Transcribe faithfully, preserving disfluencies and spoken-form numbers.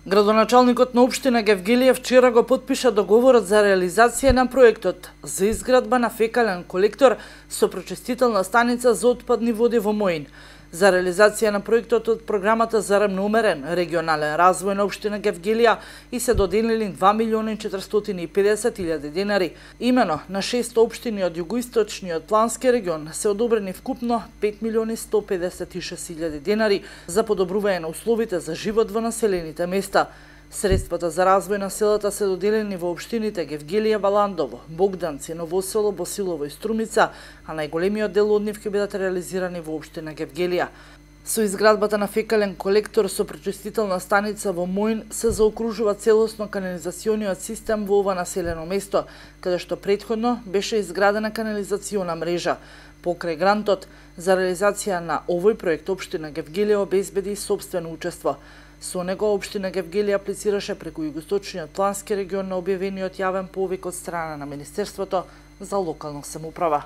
Градоначалникот на општина Гевгелија вчера го потпиша договорот за реализација на проектот за изградба на фекален колектор со прочистителна станица за отпадни води во Моин. За реализација на проектот од програмата за рамномерен регионален развој на општина Гевгелија и се доделени два милиони четиристотини и педесет илјади денари. Имено на шест општини од југоисточниот плански регион се одобрени вкупно пет милиони сто педесет и шест илјади денари за подобрување на условите за живот во населените места. Средствата за развој на селата се доделени во општините Гевгелија, Баландово, Богданци, Новосело, Босилово и Струмица, а најголемиот дел од нив ќе бидат реализирани во општина Гевгелија. Со изградбата на фекален колектор со пречистителна станица во Моин се заокружува целосно канализациониот систем во ова населено место, каде што претходно беше изградена канализациона мрежа. Покрај грантот за реализација на овој проект општина Гевгелија обезбеди сопствено учество. Со него општина Гевгелија аплицираше преку југоисточниот плански регион на објавениот јавен повик од страна на Министерството за локална самоуправа.